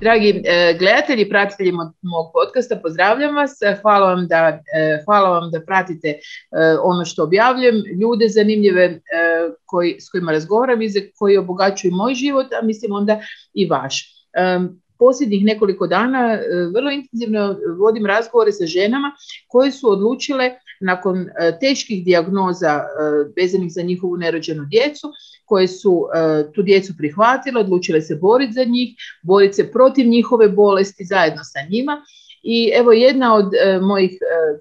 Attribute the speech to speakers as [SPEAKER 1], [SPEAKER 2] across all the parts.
[SPEAKER 1] Dragi gledatelji i pratitelji mog podcasta, pozdravljam vas. Hvala vam da pratite ono što objavljujem, ljude zanimljive s kojima razgovaram i koji obogaćuju moj život, a mislim onda i vaš. Posljednjih nekoliko dana vrlo intenzivno vodim razgovore sa ženama koje su odlučile nakon teških dijagnoza vezanih za njihovu nerođenu djecu, koje su tu djecu prihvatile, odlučile se boriti za njih, boriti se protiv njihove bolesti zajedno sa njima. I evo jedna od mojih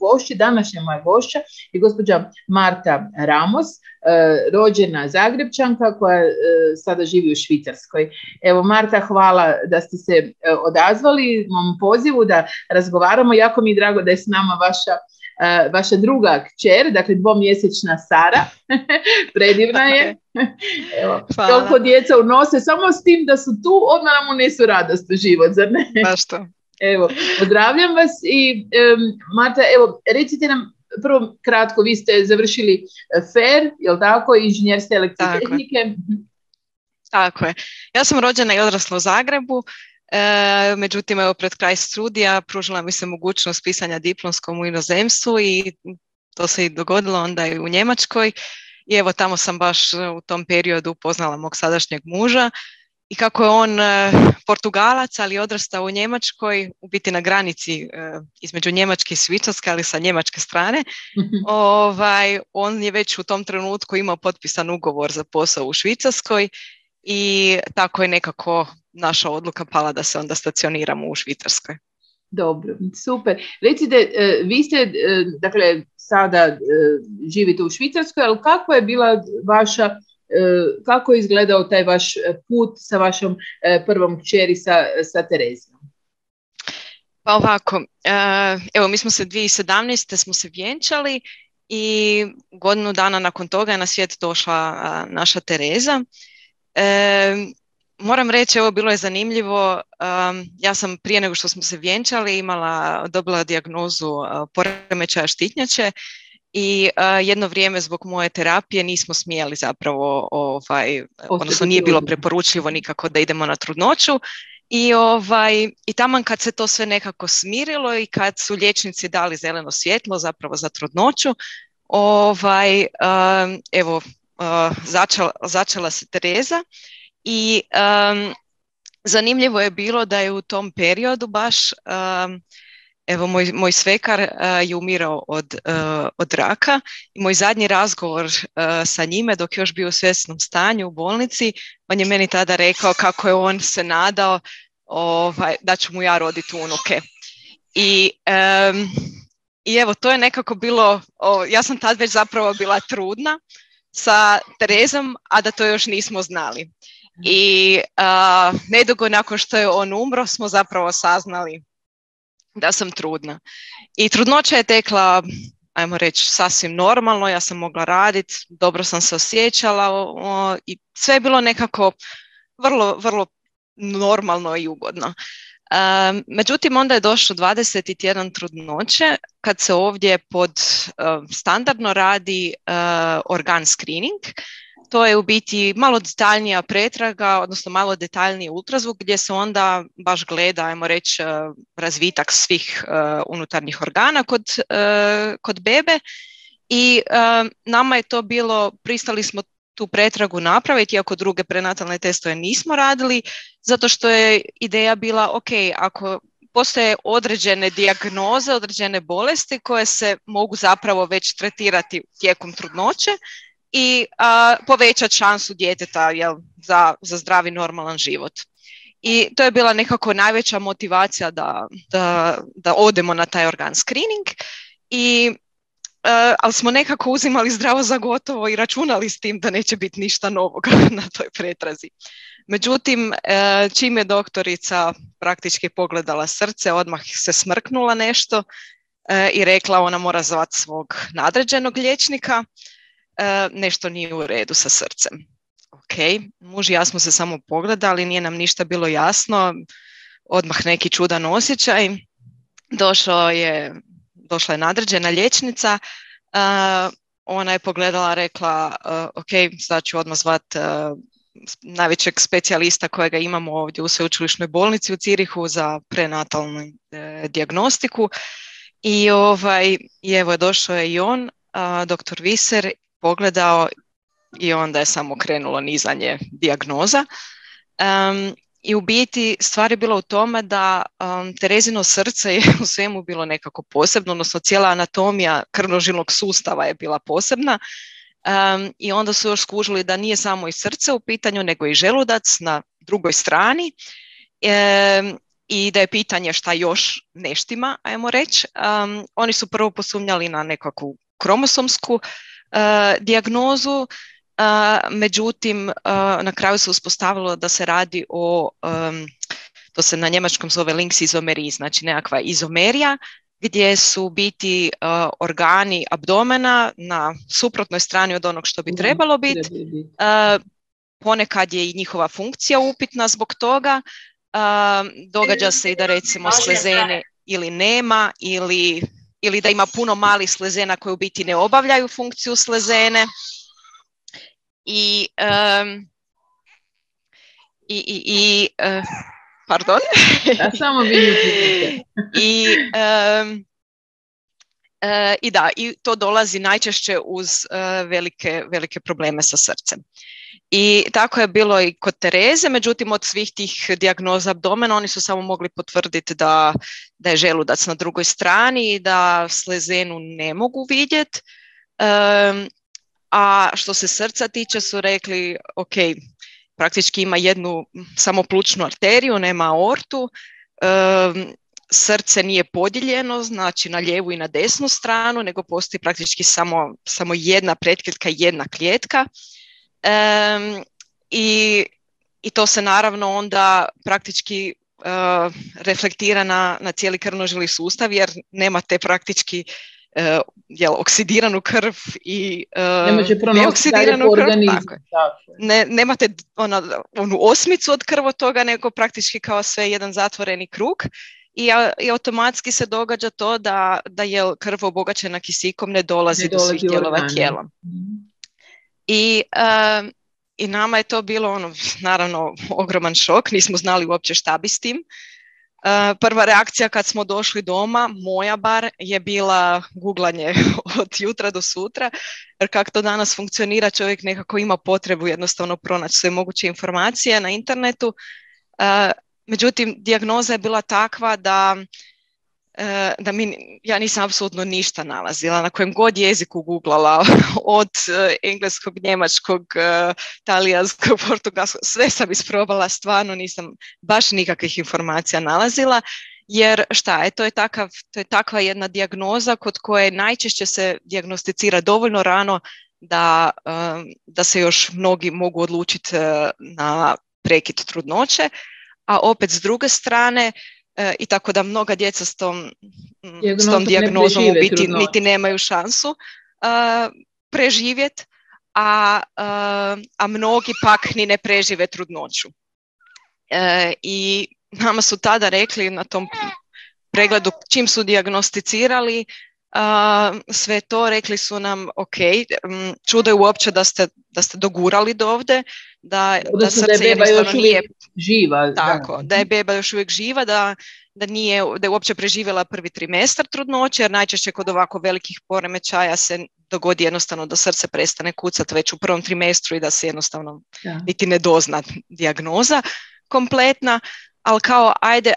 [SPEAKER 1] gošća, današnja moja gošća je gospođa Marta Ramos, rođena Zagrebčanka koja sada živi u Švicarskoj. Evo Marta, hvala da ste se odazvali mom pozivu da razgovaramo. Jako mi je drago da je s nama vaša druga kćer, dakle 2-mjesečna Sara. Predivna je. Evo, toliko djeca unose, samo s tim da su tu, odmah nam unesu radost u život, zar ne?
[SPEAKER 2] Baš to.
[SPEAKER 1] Evo, pozdravljam vas i Marta, evo, recite nam prvo kratko, vi ste završili FER, jel tako, inženjerske elektrotehnike?
[SPEAKER 2] Tako je. Ja sam rođena i odrasla u Zagrebu, međutim, evo, pred kraj studija pružila mi se mogućnost pisanja diplomskom u inozemstvu i to se i dogodilo onda i u Njemačkoj. I evo, tamo sam baš u tom periodu upoznala mog sadašnjeg muža. I kako je on Portugalac, ali odrastao u Njemačkoj, u biti na granici između Njemačke i Švicarske, ali sa njemačke strane, on je već u tom trenutku imao potpisan ugovor za posao u Švicarskoj i tako je nekako naša odluka pala da se onda stacioniramo u Švicarskoj.
[SPEAKER 1] Dobro, super. Recite, vi ste, dakle, sada živite u Švicarskoj, ali kako je bila kako je izgledao taj vaš put sa vašom prvom kćeri sa Terezijom?
[SPEAKER 2] Pa ovako, evo mi smo se 2017. smo se vjenčali i godinu dana nakon toga je na svijet došla naša Tereza. Moram reći, evo, bilo je zanimljivo, ja sam prije nego što smo se vjenčali dobila dijagnozu poremećaja štitnjače. I jedno vrijeme zbog moje terapije nismo smjeli zapravo, odnosno nije bilo preporučljivo nikako da idemo na trudnoću. I taman kad se to sve nekako smirilo i kad su liječnici dali zeleno svjetlo zapravo za trudnoću, začela se Tereza i zanimljivo je bilo da je u tom periodu baš evo, moj svekar je umirao od raka i moj zadnji razgovor sa njime dok je još bio u svjesnom stanju u bolnici, on je meni tada rekao kako je on se nadao da ću mu ja roditi unuke. I evo, to je nekako bilo, ja sam tad već zapravo bila trudna sa Terezom, a da to još nismo znali. I nedugo nakon što je on umro smo zapravo saznali da sam trudna. I trudnoća je tekla, ajmo reći, sasvim normalno, ja sam mogla raditi, dobro sam se osjećala i sve je bilo nekako vrlo, vrlo normalno i ugodno. Međutim, onda je došlo 20. tjedan trudnoće kad se ovdje standardno radi organ screening. To je u biti malo detaljnija pretraga, odnosno malo detaljniji ultrazvuk gdje se onda baš gleda, ajmo reći, razvitak svih unutarnjih organa kod bebe. I nama je to bilo, pristali smo tu pretragu napraviti, iako druge prenatalne testove nismo radili, zato što je ideja bila, ok, ako postoje određene dijagnoze, određene bolesti koje se mogu zapravo već tretirati tijekom trudnoće, i povećati šansu djeteta za zdravi normalan život. I to je bila nekako najveća motivacija da odemo na taj organ screening, ali smo nekako uzimali zdravo za gotovo i računali s tim da neće biti ništa novog na toj pretrazi. Međutim, čim je doktorica praktički pogledala srce, odmah se smrknula nešto i rekla ona mora zvati svog nadređenog liječnika. Nešto nije u redu sa srcem. Ok, muž i ja smo se samo pogledali, nije nam ništa bilo jasno, odmah neki čudan osjećaj. Došla je nadređena liječnica, ona je pogledala, rekla ok, sad ću odmah zvat najvećeg specijalista kojega imamo ovdje u sveučilišnoj bolnici u Zirihu za prenatalnu dijagnostiku. I evo došao je i on, dr. Viser, pogledao i onda je samo krenulo nizanje dijagnoza. I u biti stvar je bila u tome da Terezino srce je u svemu bilo nekako posebno, odnosno cijela anatomija krvnožilnog sustava je bila posebna. I onda su još skužili da nije samo i srce u pitanju, nego i želudac na drugoj strani. I da je pitanje šta još ne štima, ajmo reći. Oni su prvo posumnjali na nekakvu kromosomsku dijagnozu, međutim na kraju se uspostavilo da se radi o, to se na njemačkom zove links izomeri, znači nekakva izomerija, gdje su biti organi abdomena na suprotnoj strani od onog što bi trebalo biti. Ponekad je i njihova funkcija upitna zbog toga. Događa se i da recimo slezene ili nema, ili da ima puno malih slezena koje u biti ne obavljaju funkciju slezene. Pardon.
[SPEAKER 1] Ja samo vidim.
[SPEAKER 2] I to dolazi najčešće uz velike probleme sa srcem. I tako je bilo i kod Tereze, međutim od svih tih dijagnoza abdomena oni su samo mogli potvrditi da je želudac na drugoj strani i da slezenu ne mogu vidjeti. A što se srca tiče su rekli, ok, praktički ima jednu samo plućnu arteriju, nema aortu, srce nije podijeljeno, znači na lijevu i na desnu stranu, nego postoji praktički samo jedna pretklijetka i jedna klijetka. I to se naravno onda praktički reflektira na cijeli krvnožilni sustav, jer nemate praktički oksidiranu krv i neoksidiranu krv. Nemate onu osmicu od krvotoga, nego praktički kao sve jedan zatvoreni krug. I automatski se događa to da je krv obogaćena kisikom ne dolazi do svih dijelova tijela. I nama je to bilo naravno ogroman šok, nismo znali uopće šta bi s tim. Prva reakcija kad smo došli doma, moja bar, je bila guglanje od jutra do sutra, jer kako to danas funkcionira, čovjek nekako ima potrebu jednostavno pronaći sve moguće informacije na internetu. Međutim, dijagnoza je bila takva da ja nisam apsolutno ništa nalazila. Na kojem god jeziku googlala, od engleskog, njemačkog, talijanskog, portugalskog, sve sam isprobala, stvarno nisam baš nikakvih informacija nalazila, jer šta je, to je takva jedna dijagnoza kod koje najčešće se dijagnosticira dovoljno rano da se još mnogi mogu odlučiti na prekid trudnoće, a opet s druge strane, i tako da mnoga djeca s tom dijagnozom u biti niti nemaju šansu preživjeti, a mnogi pak ni ne prežive trudnoću. I nama su tada rekli na tom pregledu, čim su dijagnosticirali sve to, rekli su nam ok, čudo je uopće da ste dogurali do ovdje, da srce jednostavno nije
[SPEAKER 1] živa.
[SPEAKER 2] Tako, da je beba još uvijek živa, da je uopće preživjela prvi trimestar trudnoće, jer najčešće kod ovako velikih poremećaja se dogodi jednostavno da srce prestane kucati već u prvom trimestru i da se jednostavno niti ne dozna dijagnoza kompletna. Ali kao, ajde,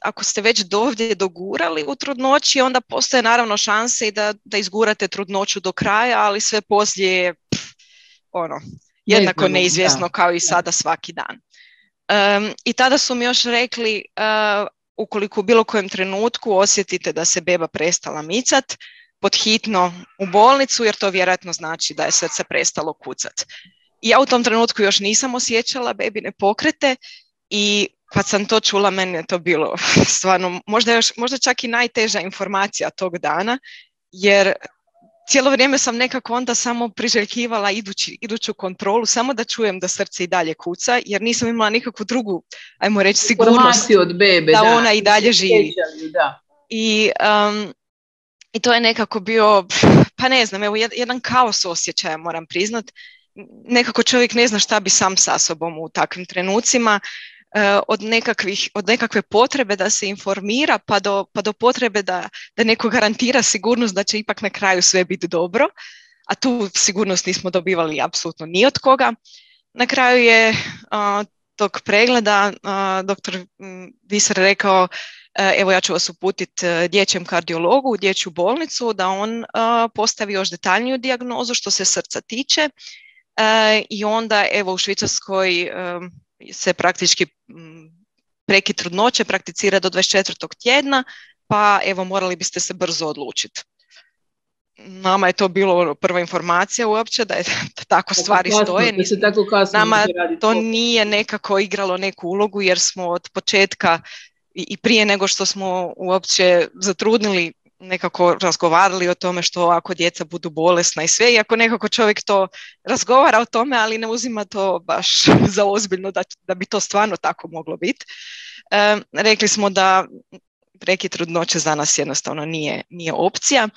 [SPEAKER 2] ako ste već dovdje dogurali u trudnoći, onda postoje naravno šanse i da izgurate trudnoću do kraja, ali sve poslije je jednako neizvjesno kao i sada svaki dan. I tada su mi još rekli, ukoliko u bilo kojem trenutku osjetite da se beba prestala micat, podhitno u bolnicu, jer to vjerojatno znači da je srce prestalo kucat. I ja u tom trenutku još nisam osjećala bebine pokrete i kad sam to čula, meni je to bilo stvarno možda čak i najteža informacija tog dana, jer cijelo vrijeme sam nekako onda samo priželjkivala iduću kontrolu, samo da čujem da srce i dalje kuca, jer nisam imala nikakvu drugu, ajmo reći, sigurnost
[SPEAKER 1] od bebe,
[SPEAKER 2] da ona i dalje živi.
[SPEAKER 1] Da.
[SPEAKER 2] I to je nekako bio, pa ne znam, evo jedan kaos osjećaja, moram priznat. nekako čovjek ne zna šta bi sam sa sobom u takvim trenucima, od nekakve potrebe da se informira pa do potrebe da neko garantira sigurnost da će ipak na kraju sve biti dobro, a tu sigurnost nismo dobivali apsolutno ni od koga. Na kraju je tog pregleda doktor Viser rekao, evo ja ću vas uputiti dječjem kardiologu u dječju bolnicu da on postavi još detaljniju dijagnozu što se srca tiče. I onda evo u Švicarskoj se praktički prekid trudnoće prakticira do 24. tjedna, pa evo morali biste se brzo odlučiti. Nama je to bilo prva informacija uopće da je da tako stvari stoje. Nama to nije nekako igralo neku ulogu jer smo od početka i prije nego što smo uopće zatrudnili nekako razgovarali o tome što ako djeca budu bolesna i sve, iako nekako čovjek to razgovara o tome, ali ne uzima to baš za ozbiljno da bi to stvarno tako moglo biti. Rekli smo da prekid trudnoće za nas jednostavno nije opcija,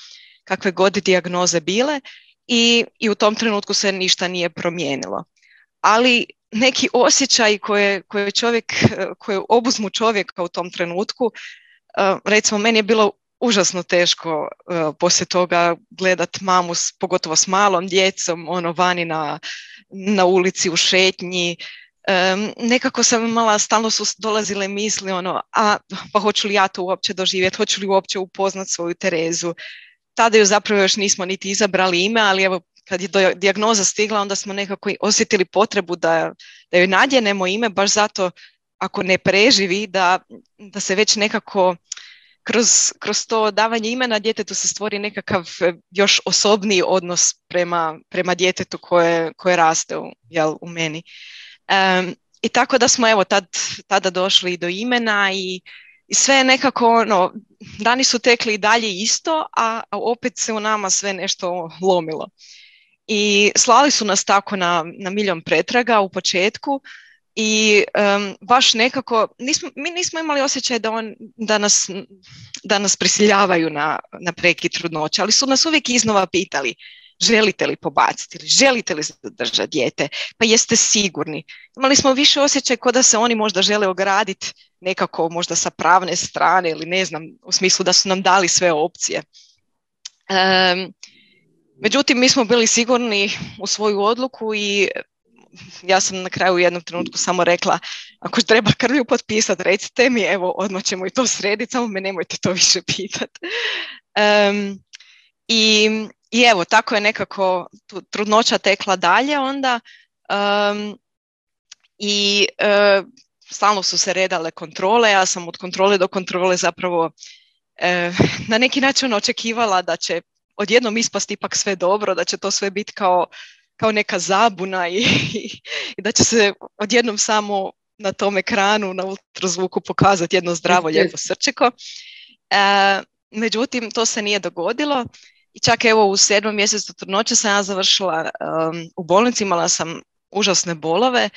[SPEAKER 2] kakve god dijagnoze bile i u tom trenutku se ništa nije promijenilo. Ali neki osjećaj koje obuzmu čovjeka u tom trenutku, recimo meni je bilo užasno teško poslije toga gledat mamu, pogotovo s malom djecom, vani na ulici u šetnji. Nekako sam imala, stalno su dolazile misli, pa hoću li ja to uopće doživjeti, hoću li uopće upoznat svoju Terezu. Tada ju zapravo još nismo niti izabrali ime, ali evo kad je dijagnoza stigla, onda smo nekako osjetili potrebu da joj nadjenemo ime, baš zato ako ne preživi, da se već nekako kroz to davanje imena djetetu se stvori nekakav još osobniji odnos prema djetetu koje raste u meni. I tako da smo evo tada došli do imena i sve je nekako, dani su tekli i dalje isto, a opet se u nama sve nešto lomilo. I slali su nas tako na miljon pretraga u početku i baš nekako, mi nismo imali osjećaj da nas prisiljavaju na prekid trudnoće, ali su nas uvijek iznova pitali želite li pobaciti ili želite li zadržati dijete, pa jeste sigurni. Imali smo više osjećaj kao da se oni možda žele ograditi nekako možda sa pravne strane ili ne znam, u smislu da su nam dali sve opcije. Međutim, mi smo bili sigurni u svoju odluku i ja sam na kraju u jednom trenutku samo rekla, ako treba krvlju potpisati, recite mi, evo, odmah ćemo i to srediti, samo me nemojte to više pitati. I evo, tako je nekako trudnoća tekla dalje onda stalno su se redale kontrole, ja sam od kontrole do kontrole zapravo na neki način očekivala da će odjednom ispasti ipak sve dobro, da će to sve biti kao neka zabuna i da će se odjednom samo na tom ekranu, na ultrazvuku pokazati jedno zdravo, lijepo srčeko. Međutim, to se nije dogodilo i čak evo u 7. mjesecu trudnoće sam ja završila u bolnici, imala sam užasne bolove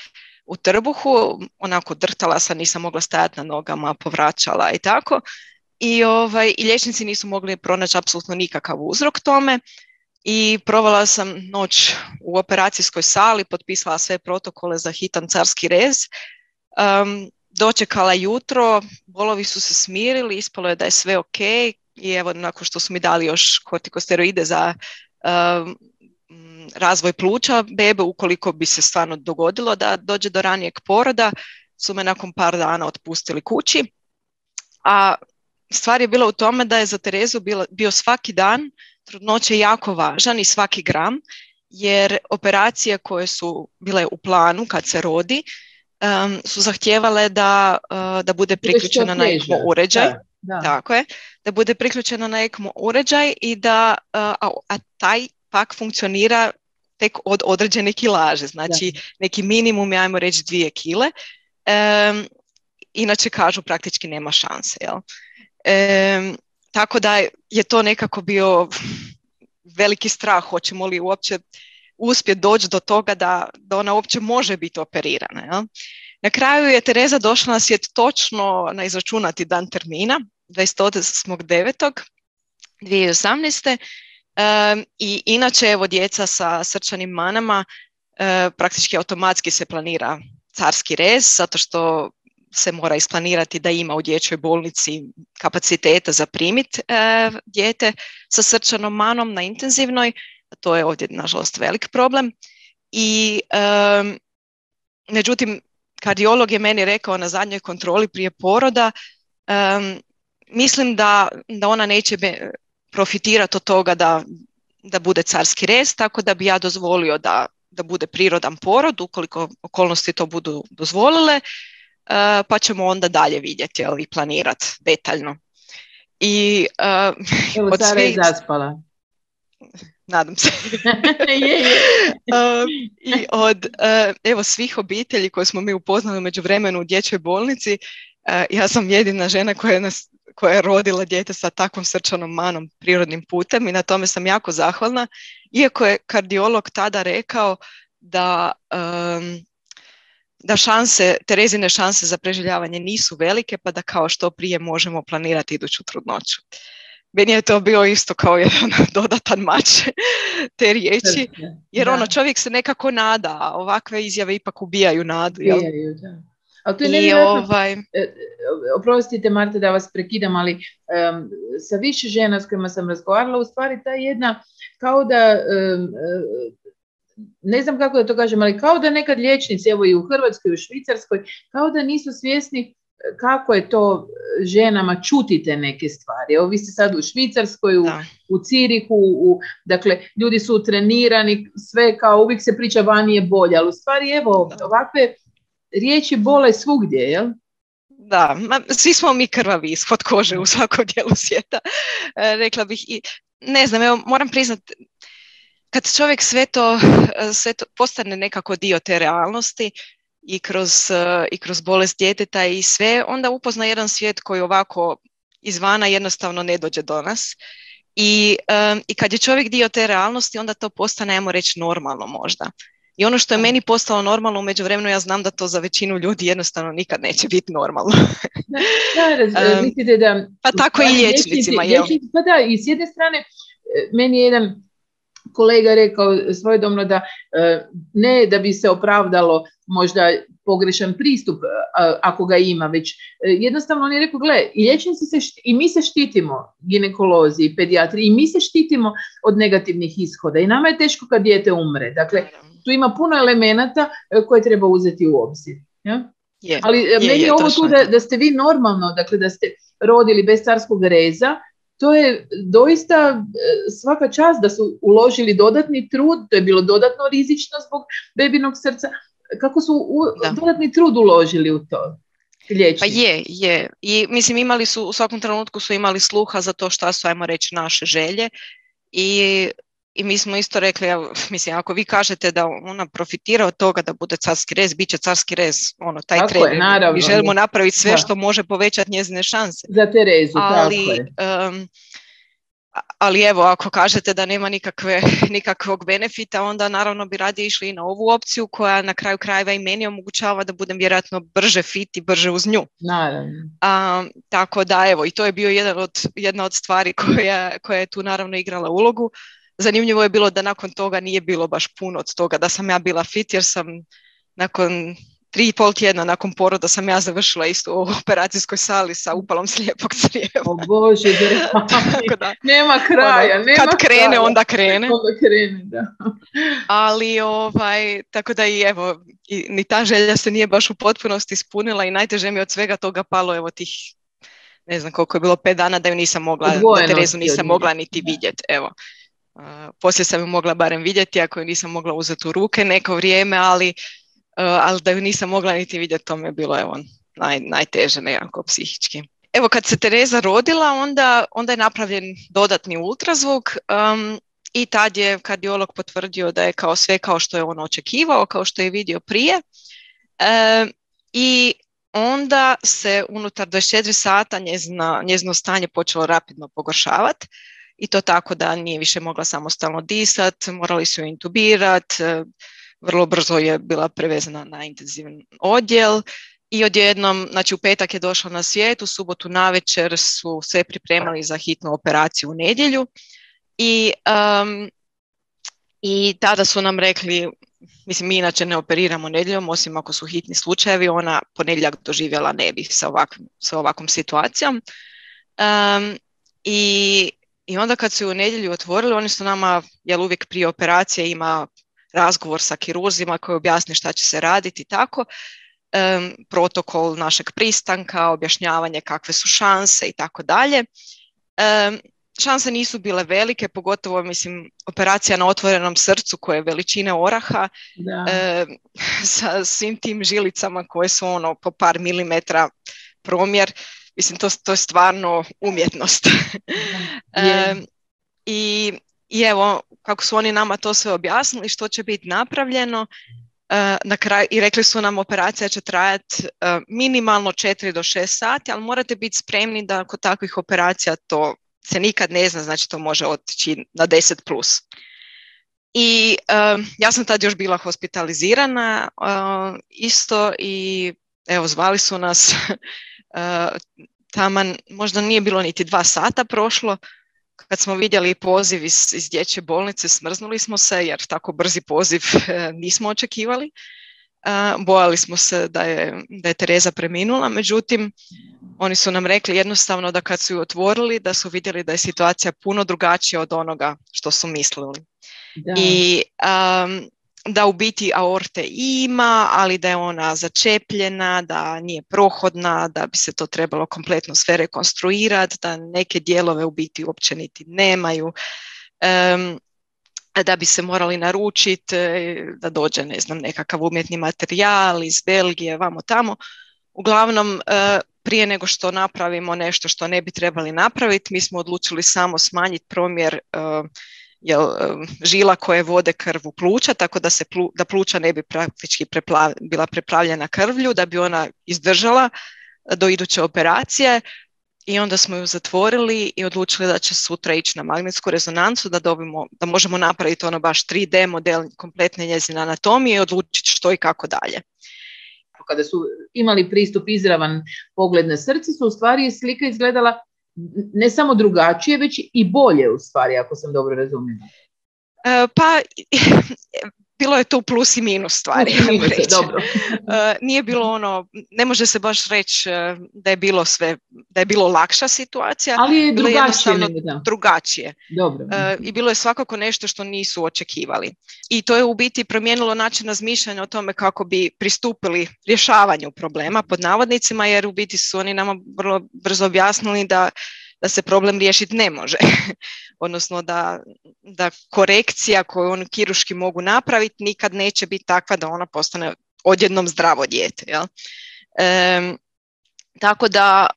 [SPEAKER 2] u trbuhu, onako drhtala sam, nisam mogla stajati na nogama, povraćala i tako. I liječnici nisu mogli pronaći apsolutno nikakav uzrok tome i provela sam noć u operacijskoj sali, potpisala sve protokole za hitan carski rez, dočekala jutro, bolovi su se smirili, ispalo je da je sve ok i evo nakon što su mi dali još kortikosteroide za razvoj pluća bebe, ukoliko bi se stvarno dogodilo da dođe do ranijeg poroda, su me nakon par dana otpustili kući, a stvar je bila u tome da je za Terezu bio svaki dan trudnoće jako važan i svaki gram, jer operacije koje su bile u planu kad se rodi su zahtijevale da bude priključena na ECMO uređaj. Da. Tako je, da bude priključena na ECMO uređaj i a taj pak funkcionira tek od određene kilaže, znači neki minimum, ajmo reći 2 kile, inače kažu praktički nema šanse, jel? Tako da je to nekako bio veliki strah, hoćemo li uopće uspjeti doći do toga da ona uopće može biti operirana. Jel? Na kraju je Tereza došla na svijet točno na izračunati dan termina, 28.9.2018. I inače evo djeca sa srčanim manama praktički automatski se planira carski rez, zato što se mora isplanirati da ima u dječjoj bolnici kapaciteta za primiti dijete sa srčanom manom na intenzivnoj. To je ovdje, nažalost, velik problem. I međutim, kardiolog je meni rekao na zadnjoj kontroli prije poroda, mislim da ona neće profitirati od toga da bude carski rez, tako da bi ja dozvolio da bude prirodan porod, ukoliko okolnosti to budu dozvolile, pa ćemo onda dalje vidjeti i planirati detaljno. I
[SPEAKER 1] evo, Sara je zaspala.
[SPEAKER 2] Nadam se. I od svih obitelji koje smo mi upoznali u međuvremenu u dječjoj bolnici, ja sam jedina žena koja je rodila dijete sa takvom srčanom manom prirodnim putem i na tome sam jako zahvalna, iako je kardiolog tada rekao da Terezine šanse za preživljavanje nisu velike, pa da kao što prije možemo planirati iduću trudnoću. Meni je to bio isto kao jedan dodatan mač te riječi, jer čovjek se nekako nada, a ovakve izjave ipak ubijaju nadu.
[SPEAKER 1] Ubijaju, da. Ali to je oprostite Marta da vas prekidam, ali sa više žena s kojima sam razgovarala, u stvari ta jedna, kao da, ne znam kako da to kažem, ali kao da nekad liječnici, evo i u Hrvatskoj i u Švicarskoj, kao da nisu svjesni kako je to ženama čutite neke stvari. Evo vi ste sad u Švicarskoj, u Cirihu, dakle ljudi su trenirani, sve kao uvijek se priča vani je bolje, ali u stvari evo ovakve riječi bole svugdje, jel?
[SPEAKER 2] Da, svi smo mi krvavi ispod kože u svakom dijelu svijeta, rekla bih. I ne znam, evo moram priznati, kad čovjek sve to postane nekako dio te realnosti i kroz bolest djeteta i sve, onda upozna jedan svijet koji ovako izvana jednostavno ne dođe do nas. I kad je čovjek dio te realnosti, onda to postane, ajmo reći, normalno možda. I ono što je meni postalo normalno u međuvremenu, ja znam da to za većinu ljudi jednostavno nikad neće biti normalno.
[SPEAKER 1] Mislite da...
[SPEAKER 2] Pa tako i liječnicima.
[SPEAKER 1] Pa da, i s jedne strane, meni je jedan kolega rekao svojedobno da ne da bi se opravdalo možda pogrešan pristup ako ga ima, već jednostavno on je rekao, gle, i liječnici i mi se štitimo, ginekolozi i pedijatri, i mi se štitimo od negativnih ishoda i nama je teško kad dijete umre. Dakle, tu ima puno elemenata koje treba uzeti u obzir. Ja? Ali meni je ovo tu da ste vi normalno, dakle da ste rodili bez carskog reza, to je doista svaka čast da su uložili dodatni trud, to je bilo dodatno rizično zbog bebinog srca. Kako su dodatni trud uložili u to? Liječnici.
[SPEAKER 2] Pa je. I mislim, imali su, u svakom trenutku su imali sluha za to šta su, ajmo reći, naše želje. I mi smo isto rekli, mislim, ako vi kažete da ona profitira od toga da bude carski rez, bit će carski rez, taj
[SPEAKER 1] tako
[SPEAKER 2] trener.
[SPEAKER 1] Je, naravno,
[SPEAKER 2] mi želimo napraviti sve što može povećati njezine šanse.
[SPEAKER 1] Za Terezu, tako je.
[SPEAKER 2] Ali evo, ako kažete da nema nikakvog benefita, onda naravno bi radije išli i na ovu opciju koja na kraju krajeva i meni omogućava da budem vjerojatno brže fit i brže uz nju.
[SPEAKER 1] Naravno.
[SPEAKER 2] Tako da evo, i to je bio jedna od stvari koja je tu naravno igrala ulogu. Zanimljivo je bilo da nakon toga nije bilo baš puno od toga da sam ja bila fit, jer sam nakon 3,5 tjedna nakon poroda sam ja završila isto u operacijskoj sali sa upalom slijepog crijeva.
[SPEAKER 1] O Bože, nema kraja.
[SPEAKER 2] Kad krene, onda krene.
[SPEAKER 1] Onda krene, da.
[SPEAKER 2] Ali, tako da i evo, ni ta želja se nije baš u potpunosti ispunila i najteže mi od svega toga palo, evo tih, ne znam koliko je bilo, 5 dana da ju nisam mogla, da Terezu nisam mogla niti vidjeti, evo. Poslije sam ju mogla barem vidjeti, ako ju nisam mogla uzeti u ruke neko vrijeme, ali da ju nisam mogla niti vidjeti, to mi je bilo najteže nekako psihički. Evo, kad se Tereza rodila, onda je napravljen dodatni ultrazvuk i tad je kardiolog potvrdio da je kao sve kao što je on očekivao, kao što je vidio prije. I onda se unutar 24 sata njezino stanje počelo rapidno pogoršavati. I to tako da nije više mogla samostalno disati, morali su ju intubirati, vrlo brzo je bila prevezana na intenzivni odjel i odjednom, znači u petak je došla na svijet, u subotu navečer su sve pripremali za hitnu operaciju u nedjelju i tada su nam rekli, mislim mi inače ne operiramo nedjeljom, osim ako su hitni slučajevi, ona ponedjeljak doživjela ne bi sa ovakvom situacijom. I onda kad su ju u nedjelju otvorili, oni su nama, jer uvijek prije operacije ima razgovor sa kirurzima koji objasni šta će se raditi i tako, protokol našeg pristanka, objašnjavanje kakve su šanse i tako dalje. Šanse nisu bile velike, pogotovo mislim operacija na otvorenom srcu koje je veličine oraha, sa svim tim žilicama koje su ono po par milimetra promjer. Mislim, to je stvarno umjetnost. I evo, kako su oni nama to sve objasnili, što će biti napravljeno, na kraju, i rekli su nam operacija će trajati minimalno 4 do 6 sati, ali morate biti spremni da kod takvih operacija to se nikad ne zna, znači to može otići na 10+. I ja sam tad još bila hospitalizirana isto i evo zvali su nas taman, možda nije bilo niti 2 sata prošlo, kad smo vidjeli poziv iz dječje bolnice, smrznuli smo se jer tako brzi poziv nismo očekivali. Bojali smo se da je Tereza preminula, međutim oni su nam rekli jednostavno da kad su ju otvorili da su vidjeli da je situacija puno drugačija od onoga što su mislili. I da u biti aorte ima, ali da je ona začepljena, da nije prohodna, da bi se to trebalo kompletno sve rekonstruirati, da neke dijelove u biti uopće niti nemaju, da bi se morali naručiti, da dođe ne znam, nekakav umjetni materijal iz Belgije, vamo tamo. Uglavnom, prije nego što napravimo nešto što ne bi trebali napraviti, mi smo odlučili samo smanjiti promjer žila koje vode krv u pluća, tako da pluća ne bi praktički bila preplavljena krvlju, da bi ona izdržala do iduće operacije. I onda smo ju zatvorili i odlučili da će sutra ići na magnetsku rezonancu, da možemo napraviti ono baš 3D model kompletne njezine anatomije i odlučiti što i kako dalje.
[SPEAKER 1] Kada su imali pristup izravan pogled na srce, su u stvari slika izgledala ne samo drugačije, već i bolje u stvari, ako sam dobro razumjela.
[SPEAKER 2] Pa bilo je tu plus i minus stvari.
[SPEAKER 1] Dobro.
[SPEAKER 2] Nije bilo ono, ne može se baš reći da je bilo lakša situacija,
[SPEAKER 1] ali je
[SPEAKER 2] bilo
[SPEAKER 1] jednostavno
[SPEAKER 2] drugačije.
[SPEAKER 1] Dobro.
[SPEAKER 2] I bilo je svakako nešto što nisu očekivali. I to je u biti promijenilo način razmišljanja o tome kako bi pristupili rješavanju problema pod navodnicima, jer u biti su oni nama vrlo brzo objasnili da se problem riješiti ne može. Odnosno da korekcija koju oni kirurški mogu napraviti nikad neće biti takva da ona postane odjednom zdravo dijete. Jel? Tako da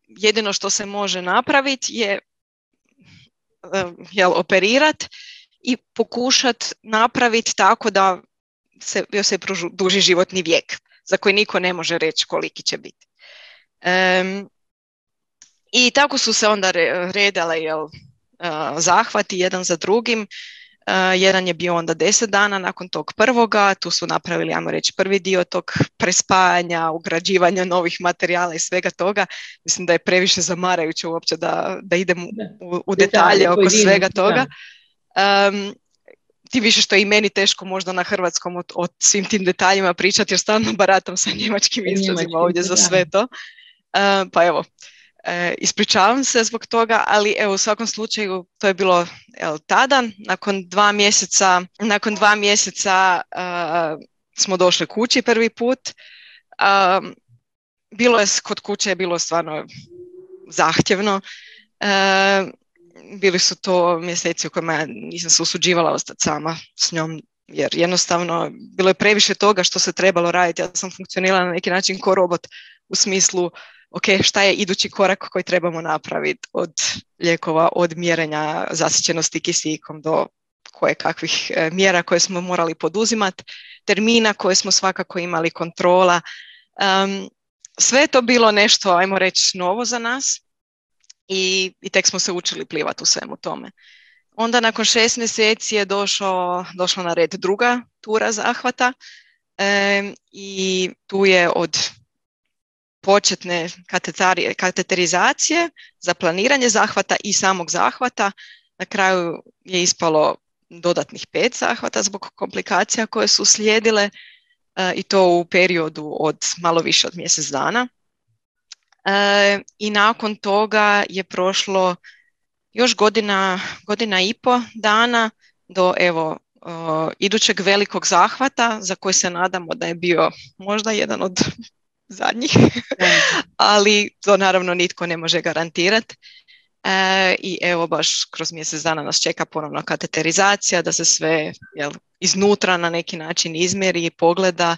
[SPEAKER 2] jedino što se može napraviti je operirati i pokušati napraviti tako da se produži životni vijek, za koji niko ne može reći koliki će biti. I tako su se onda redale zahvati jedan za drugim. Jedan je bio onda 10 dana nakon tog prvoga, tu su napravili, ajmo reći, prvi dio tog prespajanja, ugrađivanja novih materijala i svega toga. Mislim da je previše zamarajuće uopće da idem u detalje oko svega toga. Tim više što je i meni teško možda na hrvatskom o svim tim detaljima pričati, jer stalno baratam sa njemačkim izrazima ovdje za sve to. Pa evo, ispričavam se zbog toga, ali evo, u svakom slučaju to je bilo tada. Nakon 2 mjeseca smo došli kući prvi put. Kod kuće je bilo stvarno zahtjevno. Bili su to mjeseci u kojima ja nisam se usuđivala ostati sama s njom, jer jednostavno bilo je previše toga što se trebalo raditi. Ja sam funkcionirala na neki način ko robot u smislu ok, šta je idući korak koji trebamo napraviti, od lijekova, od mjerenja zasićenosti kisikom do koje kakvih mjera koje smo morali poduzimati, termina koje smo svakako imali, kontrola. Sve je to bilo nešto, ajmo reći, novo za nas i tek smo se učili plivati u svemu tome. Onda nakon 6 mjeseci je došla na red druga tura zahvata i tu je od početne kateterizacije za planiranje zahvata i samog zahvata na kraju je ispalo dodatnih 5 zahvata zbog komplikacija koje su slijedile i to u periodu od malo više od mjesec dana. I nakon toga je prošlo još godina i po dana do evo idućeg velikog zahvata za koji se nadamo da je bio možda jedan od zadnjih, ali to naravno nitko ne može garantirati. I evo baš kroz mjesec dana nas čeka ponovno kateterizacija, da se sve iznutra na neki način izmjeri i pogleda,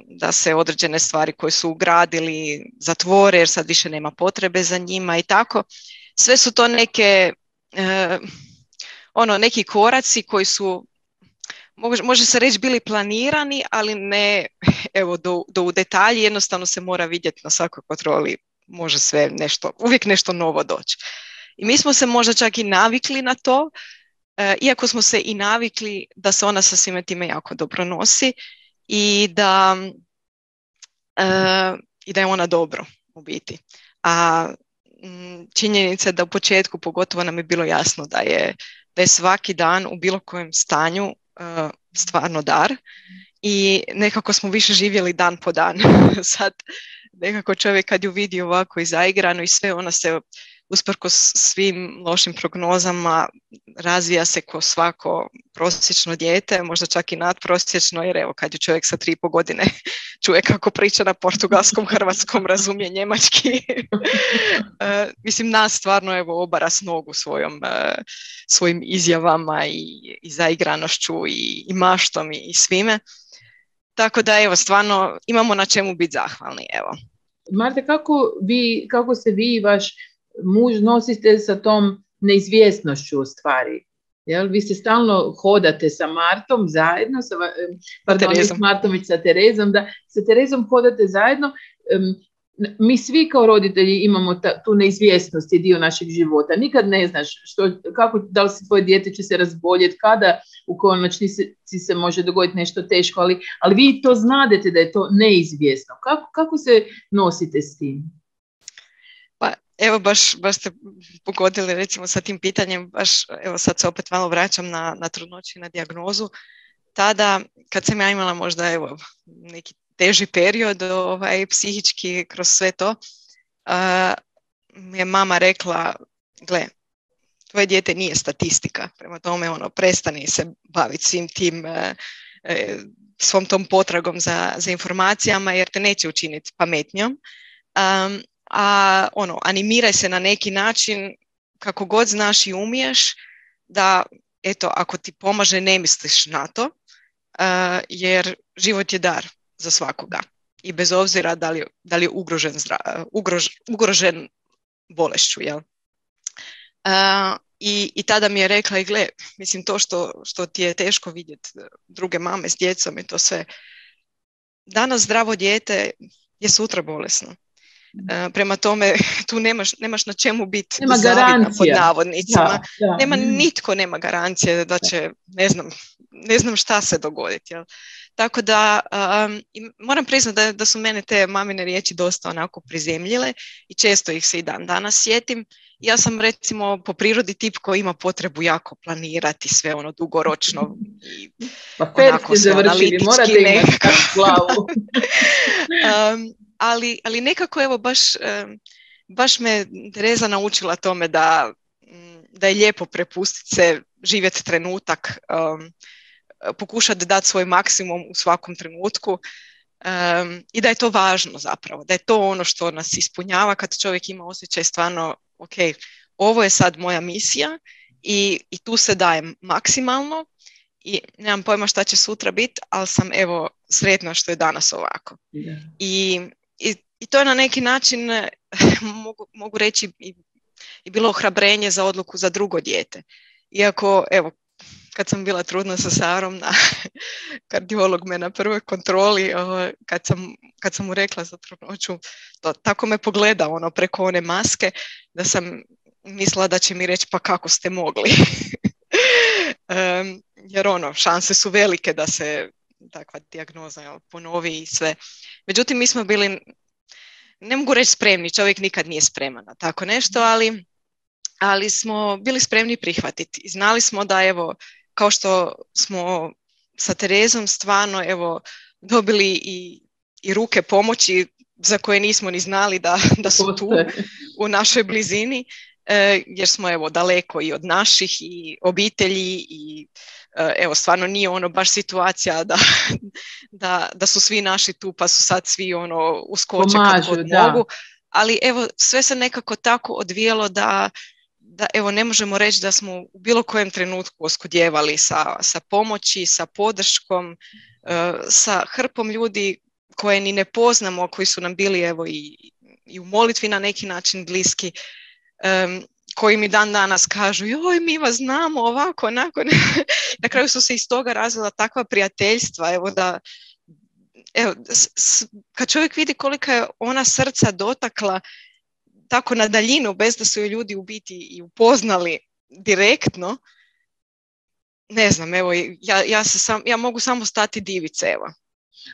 [SPEAKER 2] da se određene stvari koje su ugradili zatvore jer sad više nema potrebe za njima i tako. Sve su to neki koraci koji su, može se reći, bili planirani, ali ne evo do u detalji, jednostavno se mora vidjeti na svakoj kontroli, može sve uvijek nešto novo doći. I mi smo se možda čak i navikli na to, iako smo se i navikli da se ona sa svime time jako dobro nosi i da je ona dobro u biti. A činjenica je da u početku pogotovo nam je bilo jasno da je svaki dan u bilo kojem stanju stvarno dar i nekako smo više živjeli dan po dan. Sad nekako čovjek kad ju vidi ovako i zaigrano i sve, ona se usprkos svim lošim prognozama razvija se ko svako prosječno dijete, možda čak i nadprosječno, jer evo kad ju čovjek sa 3,5 godine čuje kako priča na portugalskom, hrvatskom, razumije njemački. Mislim, nas stvarno evo obara s nogu svojim izjavama i zaigranošću i maštom i svime. Tako da evo stvarno imamo na čemu biti zahvalni. Evo.
[SPEAKER 1] Marta, kako se vi i vaš muž nosite sa tom neizvjesnošću u stvari? Jel? Vi se stalno hodate sa Martom zajedno, sa Terezom, da sa Terezom hodate zajedno. Mi svi kao roditelji imamo tu neizvjesnost, je dio našeg života. Nikad ne znaš da li tvoje dijete će se razboljeti, kada u konačnici se može dogoditi nešto teško, ali vi to znadete da je to neizvjesno. Kako se nosite s tim?
[SPEAKER 2] Pa evo baš ste pogodili recimo sa tim pitanjem, baš evo sad se opet malo vraćam na trudnoću i na dijagnozu. Tada kad sam ja imala možda evo neki teži period psihički kroz sve to, mi je mama rekla, gle, tvoje dijete nije statistika, prema tome prestani se baviti svim tim, svom tom potragom za informacijama jer te neće učiniti pametnjom. Animiraj se na neki način kako god znaš i umiješ, da eto, ako ti pomaže ne misliš na to, jer život je dar za svakoga i bez obzira da li je ugrožen bolešću. Jel? I tada mi je rekla, i gle, mislim to što ti je teško vidjeti druge mame s djecom i to sve, danas zdravo dijete je sutra bolesno. Prema tome tu nemaš na čemu biti zavidna pod navodnicima. Da. Nitko nema garancije da će ne znam šta se dogoditi. Jel? Tako da moram priznati da su mene te mamine riječi dosta onako prizemljile i često ih se i dan danas sjetim. Ja sam recimo po prirodi tip koji ima potrebu jako planirati sve dugoročno i
[SPEAKER 1] onako sve analitički nekako.
[SPEAKER 2] Ali nekako evo baš me Tereza naučila tome da je lijepo prepustiti se, živjeti trenutak, pokušati dati svoj maksimum u svakom trenutku i da je to važno zapravo, da je to ono što nas ispunjava kad čovjek ima osjećaj stvarno, ok, ovo je sad moja misija i tu se dajem maksimalno i nemam pojma šta će sutra biti, ali sam evo sretna što je danas ovako. Yeah. I to je na neki način, mogu reći, i bilo ohrabrenje za odluku za drugo dijete. Iako, evo, kad sam bila trudna sa Sarom, kardiolog me na prvoj kontroli, kad sam mu rekla za trudnoću, tako me pogleda preko one maske, da sam mislila da će mi reći pa kako ste mogli. Jer šanse su velike da se takva dijagnoza ponovi i sve. Međutim, mi smo bili, ne mogu reći spremni, čovjek nikad nije spreman na tako nešto, ali smo bili spremni prihvatiti. I znali smo da evo, kao što smo sa Terezom stvarno evo, dobili i ruke pomoći za koje nismo ni znali da su tu u našoj blizini, jer smo evo daleko i od naših i obitelji i evo stvarno nije ono baš situacija da su svi naši tu pa su sad svi ono uskoče kad god mogu, ali evo sve se nekako tako odvijelo da evo ne možemo reći da smo u bilo kojem trenutku oskudjevali sa pomoći, sa podrškom, sa hrpom ljudi koje ni ne poznamo, koji su nam bili evo i u molitvi na neki način bliski, koji mi dan danas kažu joj mi vas znamo ovako, onako. Na kraju su se iz toga razvila takva prijateljstva, evo da evo, kad čovjek vidi kolika je ona srca dotakla tako na daljinu, bez da su je ljudi u biti i upoznali direktno, ne znam, evo, ja mogu samo stati divice, evo.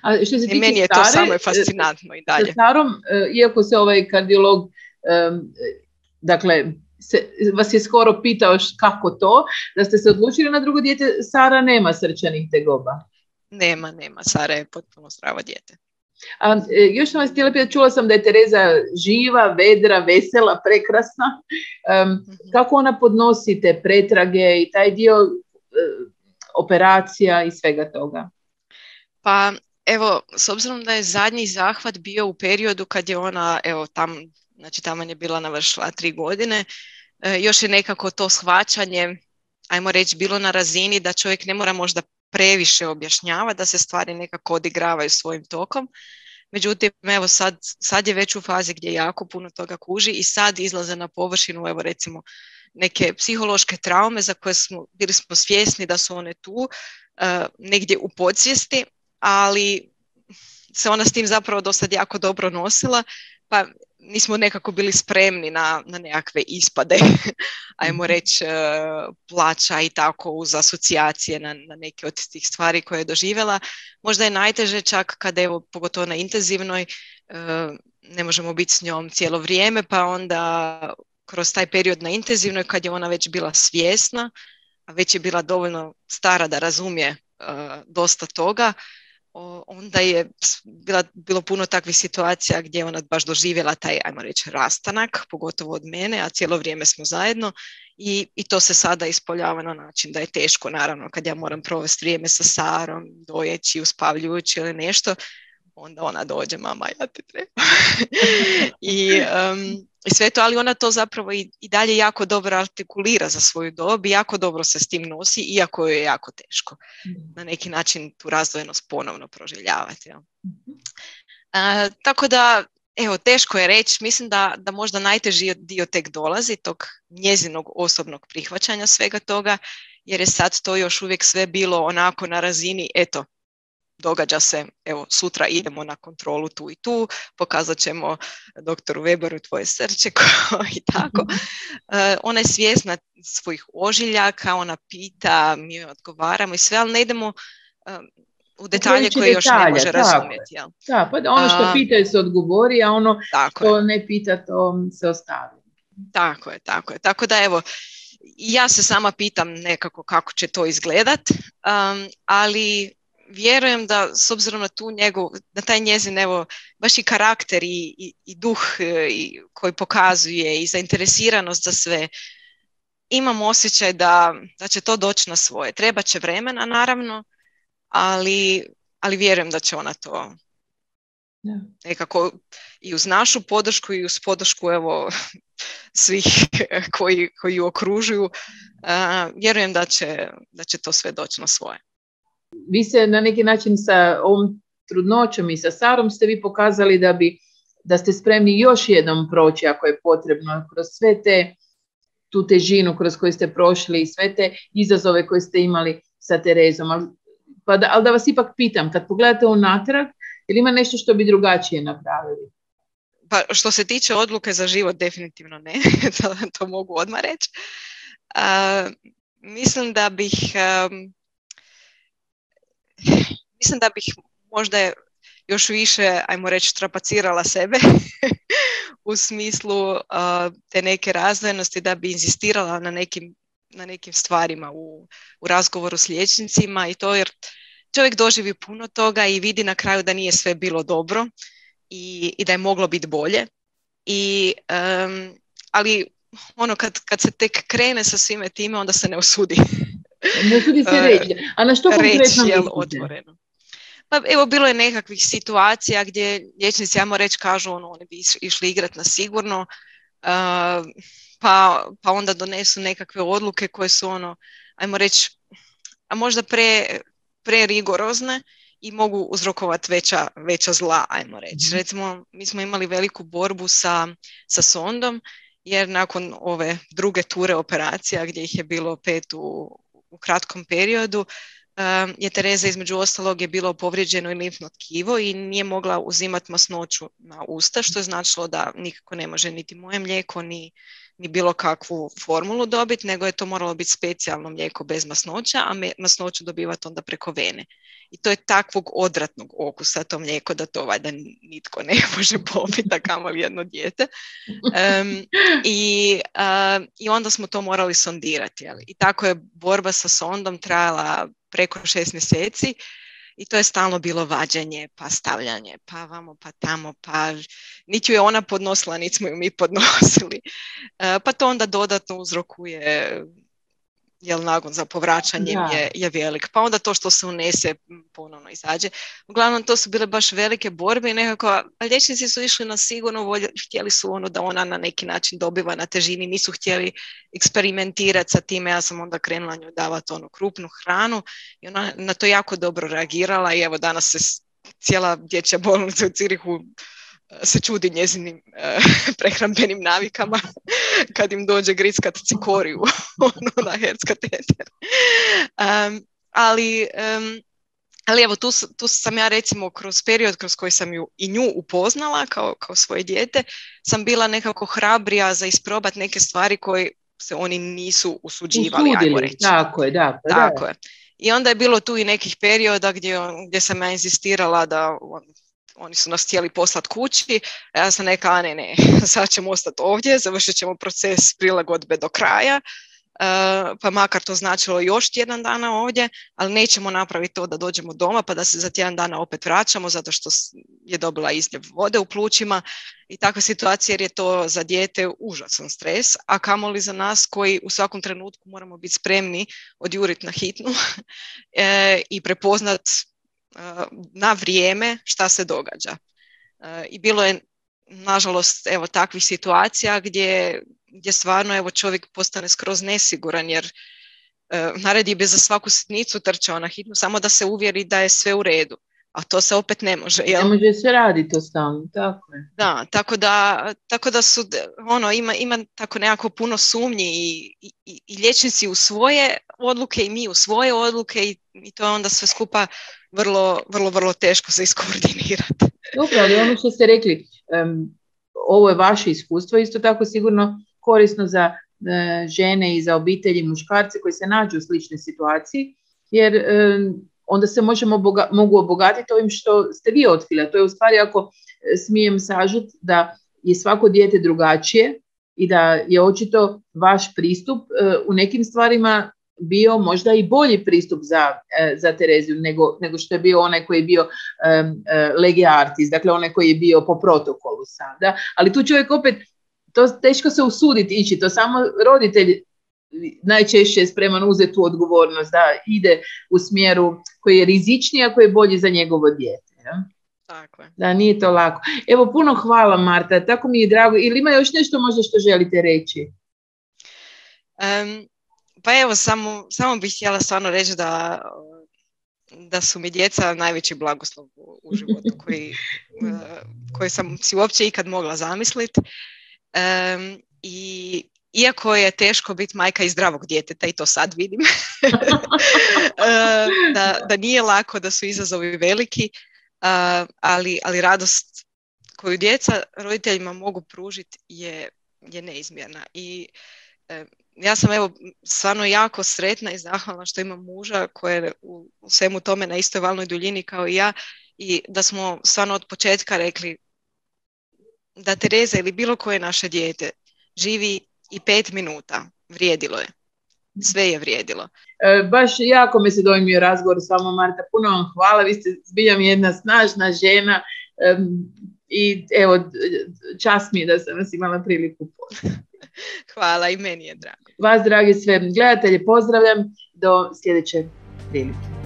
[SPEAKER 1] A što se tiče
[SPEAKER 2] meni je to samo fascinantno i dalje.
[SPEAKER 1] Sa Sarom, iako se ovaj kardiolog, dakle, vas je skoro pitao kako to, da ste se odlučili na drugo dijete, Sara nema srčanih tegoba.
[SPEAKER 2] Nema. Sara je potpuno zdravo dijete.
[SPEAKER 1] A, još sam vas htjela pitati, čula sam da je Tereza živa, vedra, vesela, prekrasna. Kako ona podnosi te pretrage i taj dio operacija i svega toga?
[SPEAKER 2] Pa evo, s obzirom da je zadnji zahvat bio u periodu kad je ona, evo tamo je bila navršila 3 godine, još je nekako to shvaćanje, ajmo reći, bilo na razini da čovjek ne mora možda previše objašnjava, da se stvari nekako odigravaju svojim tokom. Međutim, evo sad je već u fazi gdje jako puno toga kuži i sad izlaze na površinu, evo recimo, neke psihološke traume za koje bili smo svjesni da su one tu, negdje u podsvijesti, ali se ona s tim zapravo do sad jako dobro nosila, pa nismo nekako bili spremni na nekakve ispade, ajmo reći, plaća i tako uz asocijacije na neke od tih stvari koje je doživjela. Možda je najteže čak kada, evo, pogotovo na intenzivnoj, ne možemo biti s njom cijelo vrijeme, pa onda kroz taj period na intenzivnoj, kad je ona već bila svjesna, a već je bila dovoljno stara da razumije dosta toga, onda je bilo puno takvih situacija gdje je ona baš doživjela taj, ajmo reći, rastanak, pogotovo od mene, a cijelo vrijeme smo zajedno i to se sada ispoljava na način da je teško, naravno, kad ja moram provesti vrijeme sa Sarom, dojeći, uspavljujući ili nešto, onda ona dođe, mama, ja te treba. I sve to, ali ona to zapravo i dalje jako dobro artikulira za svoju dob i jako dobro se s tim nosi, iako je jako teško na neki način tu razdvojenost ponovno proživljavati. Ja. Tako da, evo, teško je reći, mislim da možda najteži dio tek dolazi, tog njezinog osobnog prihvaćanja svega toga, jer je sad to još uvijek sve bilo onako na razini, eto, događa se, evo, sutra idemo na kontrolu tu i tu, pokazat ćemo doktoru Weberu tvoje srce i tako. Ona je svjesna svojih ožiljaka, ona pita, mi joj odgovaramo i sve, ali ne idemo u detalje koje još ne može razumjeti. Jel?
[SPEAKER 1] Da, pa ono što pitaju se odgovori, a ono što ne pita to se ostavi.
[SPEAKER 2] Tako je. Tako da, evo, ja se sama pitam nekako kako će to izgledat, ali vjerujem da s obzirom na na taj njezin, evo, baš i karakter i duh koji pokazuje i zainteresiranost za sve, imam osjećaj da će to doći na svoje. Treba će vremena, naravno, ali vjerujem da će ona to nekako i uz našu podršku i uz podršku, evo, svih koji ju okružuju, vjerujem da će to sve doći na svoje.
[SPEAKER 1] Vi se na neki način sa ovom trudnoćom i sa Sarom ste vi pokazali da ste spremni još jednom proći ako je potrebno kroz sve tu težinu kroz koju ste prošli i sve te izazove koje ste imali sa Terezom. Ali da vas ipak pitam, kad pogledate unatrag, ili ima nešto što bi drugačije napravili?
[SPEAKER 2] Pa što se tiče odluke za život, definitivno ne, to mogu odmah reći. Mislim da bih možda još više, ajmo reći, trapacirala sebe u smislu te neke razdvojenosti, da bi inzistirala na nekim stvarima u razgovoru s liječnicima i to, jer čovjek doživi puno toga i vidi na kraju da nije sve bilo dobro i da je moglo biti bolje. Ali ono kad se tek krene sa svime time, onda se ne usudi.
[SPEAKER 1] Ne usudi se reći. A na što konkretno mislite?
[SPEAKER 2] Otvoreno. Pa evo, bilo je nekakvih situacija gdje liječnici, ajmo reći, kažu oni bi išli igrati na sigurno, pa onda donesu nekakve odluke koje su ajmo reći, a možda prerigorozne i mogu uzrokovati veća zla, ajmo reći. Recimo, mi smo imali veliku borbu sa sondom, jer nakon ove druge ture operacija, gdje ih je bilo 5 u kratkom periodu, je Tereza između ostalog je bilo povrijeđeno i limfno tkivo i nije mogla uzimati masnoću na usta, što je značilo da nikako ne može niti moje mlijeko, ni bilo kakvu formulu dobiti, nego je to moralo biti specijalno mlijeko bez masnoća, a masnoću dobivati onda preko vene. I to je takvog odvratnog okusa to mlijeko da to valjda nitko ne može popiti, a kamoli jedno dijete. I onda smo to morali sondirati. I tako je borba sa sondom trajala preko 6 mjeseci i to je stalno bilo vađenje, pa stavljanje, pa vamo, pa tamo, pa niti ju je ona podnosila, niti smo ju mi podnosili. Pa to onda dodatno uzrokuje, jer nagon za povraćanjem je velik. Pa onda to što se unese ponovno izađe. Uglavnom, to su bile baš velike borbe i nekako, liječnici su išli na sigurno, htjeli su da ona na neki način dobiva na težini, nisu htjeli eksperimentirati sa time. Ja sam onda krenula njoj davati krupnu hranu i ona na to jako dobro reagirala i evo danas se cijela dječja bolnica u Zürichu se čudi njezinim prehrambenim navikama kad im dođe griskat cikoriju na herc-kateter. Ali evo, tu sam ja recimo kroz period kroz koji sam ju i nju upoznala kao svoje dijete, sam bila nekako hrabrija za isprobati neke stvari koje se oni nisu usuđivali, ajmo reći.
[SPEAKER 1] Tako je, da.
[SPEAKER 2] I onda je bilo tu i nekih perioda gdje sam ja inzistirala da oni su nas htjeli poslati kući, a ja sam neka, ne, sad ćemo ostati ovdje, završit ćemo proces prilagodbe do kraja, pa makar to značilo još tjedan dana ovdje, ali nećemo napraviti to da dođemo doma pa da se za tjedan dana opet vraćamo zato što je dobila izljev vode u plućima i takva situacija, jer je to za dijete užasan stres, a kamoli za nas koji u svakom trenutku moramo biti spremni odjuriti na hitnu i prepoznat na vrijeme šta se događa. I bilo je, nažalost, evo takvih situacija gdje stvarno evo čovjek postane skroz nesiguran, jer naredi bi za svaku sitnicu trčao na hitnu samo da se uvjeri da je sve u redu, a to se opet ne može. Jel?
[SPEAKER 1] Ne može se raditi to stalno, tako je.
[SPEAKER 2] Da, tako da su, ima tako nekako puno sumnji i liječnici u svoje odluke i mi u svoje odluke i to je onda sve skupa vrlo, vrlo, vrlo teško se iskoordinirati.
[SPEAKER 1] Dobro, ali ono što ste rekli, ovo je vaše iskustvo, isto tako sigurno korisno za žene i za obitelji, muškarce koji se nađu u sličnoj situaciji, jer onda se mogu obogatiti ovim što ste vi otkrili. To je u stvari, ako smijem sažeti, da je svako dijete drugačije i da je očito vaš pristup u nekim stvarima bio možda i bolji pristup za Tereziju nego što je bio onaj koji je bio lege artis, dakle onaj koji je bio po protokolu sada. Ali tu čovjek opet, to teško se usuditi ići, to samo roditelj najčešće je spreman uzeti tu odgovornost da ide u smjeru koji je rizičniji, a koji je bolji za njegovo dijete. Ja?
[SPEAKER 2] Tako je.
[SPEAKER 1] Da, nije to lako. Evo, puno hvala, Marta, tako mi je drago. Ili ima još nešto možda što želite reći?
[SPEAKER 2] Pa evo, samo bih htjela stvarno reći da su mi djeca najveći blagoslov u životu koji sam si uopće ikad mogla zamisliti. I iako je teško biti majka i zdravog djeteta, i to sad vidim, da nije lako, da su izazovi veliki, ali radost koju djeca roditeljima mogu pružiti je neizmjerna. I ja sam evo stvarno jako sretna i zahvalna što imam muža koji je u svemu tome na istoj valnoj duljini kao i ja i da smo stvarno od početka rekli da Tereza ili bilo koje naše dijete živi i 5 minuta. Vrijedilo je. Sve je vrijedilo.
[SPEAKER 1] Baš jako me se dojmio razgovor s vama, Marta. Puno vam hvala. Vi ste zbilja jedna snažna žena i evo, čast mi je da sam vas imala priliku.
[SPEAKER 2] Hvala, i meni je drago.
[SPEAKER 1] Vas, dragi sve gledatelji, pozdravljam do sljedeće prilike.